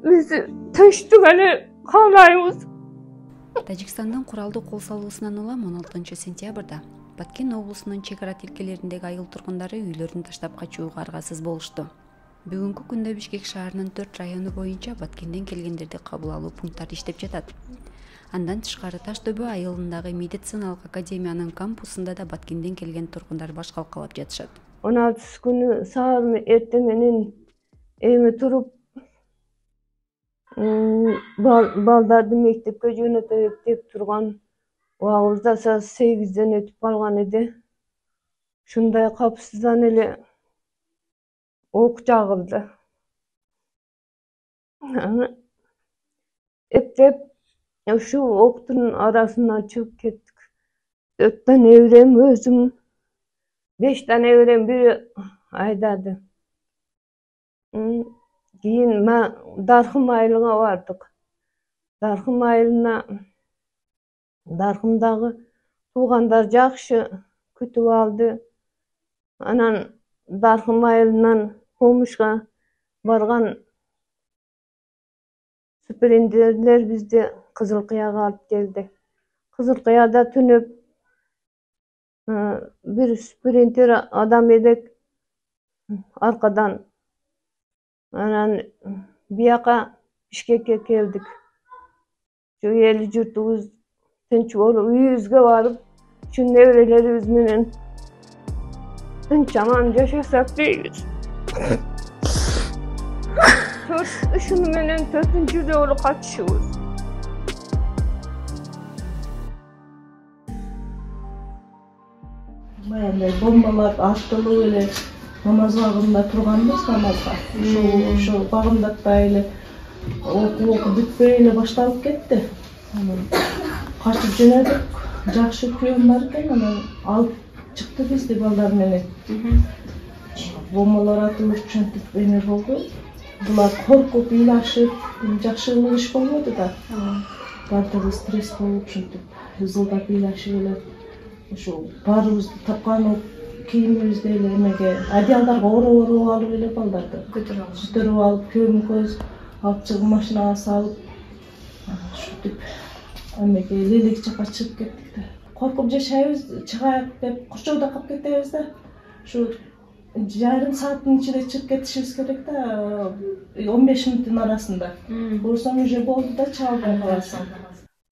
Биз тынчтык эле каалайбыз. Тажикстандын куралдуу кол салуусунан улам 16 сентябрда Баткен облусунун чек ара тилкелериндеги айыл тургундары үйлөрүн таштап качууга аргасыз болушту. Бүгүнкү күндө Бишкек шаарынын 4 району боюнча Баткенден келгендерди кабыл алуу пункттары иштеп жатат. Андан тышкары Таш дөбө айылындагы медициналык академиянын кампусунда да Баткенден келген тургундар баш калкалап жатышат. 16 күнү саам эртең менен эми туруп балдарды мектепке жөнөтөйүк деп турган убагыбызда 8ден өтүп калган эди. Ушундай капсыздан эле ок жагылды. Эптеп ушул октун арасынан чыгып кеттик. 4 та неберем, өзүм 5 та неберем бири айдады. Кийин Даркым айылына бардык. Даркым айылына Даркымдагы туугандар жакшы күтүп алды. Анан Даркым айылынан Комушка барган суперинтенденттер бизди Кызыл Кыяга алып келди. Кызыл Кыяда түнөп бир суперинтендент адам элек аркадан анан бияка Бишкекке келдик. Şu эл журтубуз тынч болуп, үйүбүзгө барып, şu неберелерибиз менен тынч аман жашасак дейбиз. Ушуну менен 4-нчү жолу качышыбыз. Баягындай бомбалар аттылып эле намаз багында турганбыз, намазга. Ошо багындатпай эле окуу бүтпөй эле башталып кетти. Анан качып жөнөдүк. Жакшы күйөөм бар экен, анан алып чыкты бизди балдар менен. Бомбалар атылып ушинтип эме болду. Булар коркуп, ыйлашып, жакшылык иш болбоду да. Бардыгы стресс болуп, ушинтип ызылдап ыйлашып эле ошо баарыбызды тапкан кийимибизди эле эмеге, одеялдарга ороп алып эле балдарды көтөрүп алып, көмүкөз алып чыгып машинага салып, ушинтип эмеге Лелек жака чыгып кеттик да. Коркуп жашайбыз, чыгайык деп курчоодо калып кетебиз да. Ушу жарым сааттын ичинде чыгып кетишибиз керек да, 15 мүнөттүн арасында. Көрсөң уже болду да, чыга албай каласың.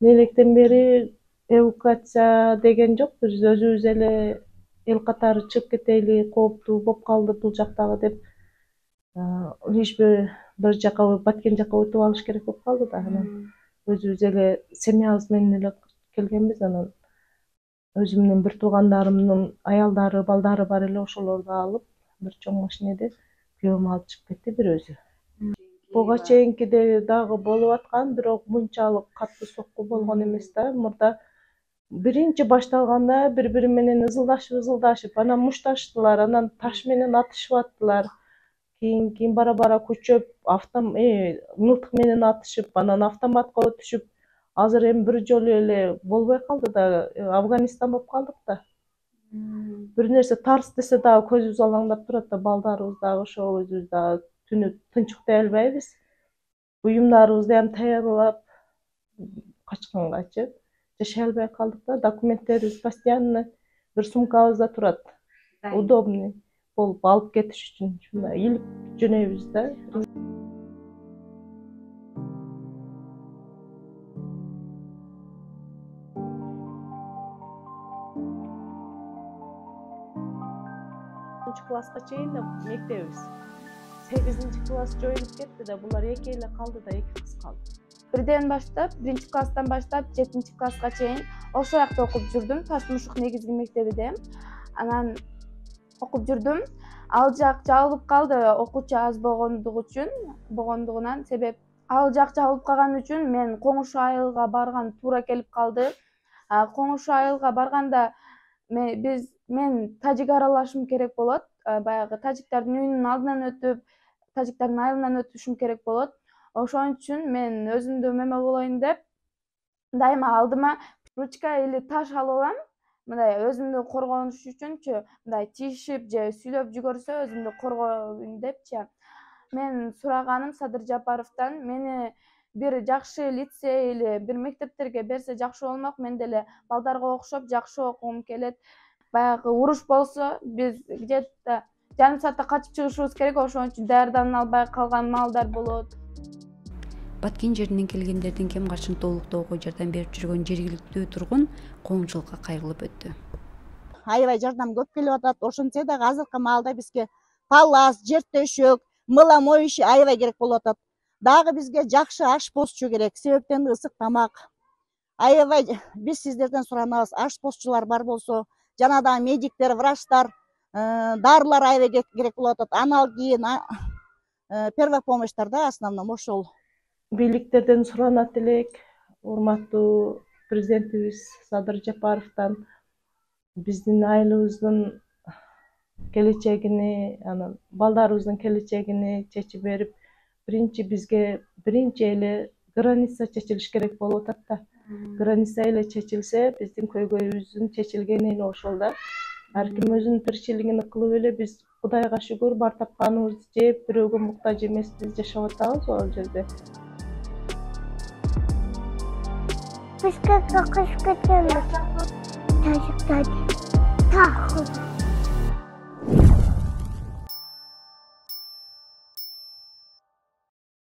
Лелектен бери эвакуация деген жок, биз өзүбүз эле эл катары чыгып кетели, кооптуу болуп калды бул жактагы деп, лишь бир жака Баткен жака өтүп алыш керек болуп калды да. Анан өзүбүз эле семьябыз менен эле келгенбиз. Анан өзүмдүн бир туугандарымдын аялдары, балдары бар эле, ошолорду алып бир чоң машинеде күйөөм алып чыгып кетти бир өзү. Буга чейинкиде дагы болуп аткан, бирок мынчалык катуу сокку болгон эмес да. Мурда биринчи башталганда бири менен ызылдашып, анан мушташтылар, анан таш менен атышып аттылар. Кийин бара күчөп, мылтык менен атышып, анан автоматка өтүшүп, азыр эми бир жолу эле болбой калды да, Афганистан болуп калдык да. Бир нерсе тарс десе дагы көзүбүз алаңдап турат да, балдарыбыз дагы ошо, өзүбүз дагы түнү тынч уктай албайбыз. Буюмдарыбызды ham даярдап качкангачы жашай албай калдык да. Документтерибиз постоянно бир сумкабызда турат. Удобный болуп алып кетиш үчүн ушундай илип жөнөйбүз да. Класска чейин да мектебиз. 8-класс жоюлуп кетти да, булар эки эле калды да, 2 кыз калды. Бирден баштап, 1-класстан баштап 7-класска чейин ошол жакта окуп жүрдүм, Таш-Мушук негизги мектебиде. Анан окуп жүрдүм. Ал жак жабылып калды, окуучу аз болгондугунан, себеп ал жак жабылып калган үчүн мен Коңушу айылга барган туура келип калды. Коңушу айылга барганда мен тажик аралашым керек болот. Баягы тажиктардын үйүнүн алдынан өтүп, тажиктардын айылынан өтүшүм керек болот. Ошон үчүн мен өзүмдү эме болоюн деп, дайыма алдыма ручка или таш алып алам. Мындай өзүмдү коргонуш үчүнчү, мындай тийишип же сүйлөп жүгөрсө өзүмдү коргоюн депчи. мен сураганым Садыр Жапаровдон мени бир жакшы лицей или бир мектептерге берсе жакшы болмок. Мен деле балдарга окшоп жакшы окугум келет. Баягы уруш болсо биз где-то жарым саатта качып чыгышыбыз керек, ошон үчүн даярдана албай калган маалдар болот. Баткен жеринен келгендердин кем каршын толуктоого жардам берип жүргөн жергиликтүү тургун коомчулукка кайрылып өттү. Аябай жардам көп келип атат. Ошентсе да азыркы маалда бизге палас, жер төшөк, мыла моющий аябай керек болуп атат. Дагы бизге жакшы аш постчу керек, себептен ысык тамак. Аябай биз сиздерден суранабыз, аш постчулар бар болсо, жана да медиктер, врачтар, дарылар аябай керек болуп атат. Аналгин, первая помощьтар да основном ошол. Бийликтерден суранат элек, урматтуу президентибиз Садыр Жапаровдон биздин айылыбыздын келечегини, анан балдарыбыздын келечегини чечип берип, бизге биринчи эле граница чечилиш керек болуп атат да. Граница эле чечилсе, биздин көйгөйүбүздүн чечилгени эле ошол да. Ар ким өзүнүн тиричилигин кылып эле биз Кудайга шүгүр бар тапканыбызды жеп, бирөөгө муктаж эмеспиз, жашап атабыз ал жерде. Бизге кокуш кетемиз. Тажиктан.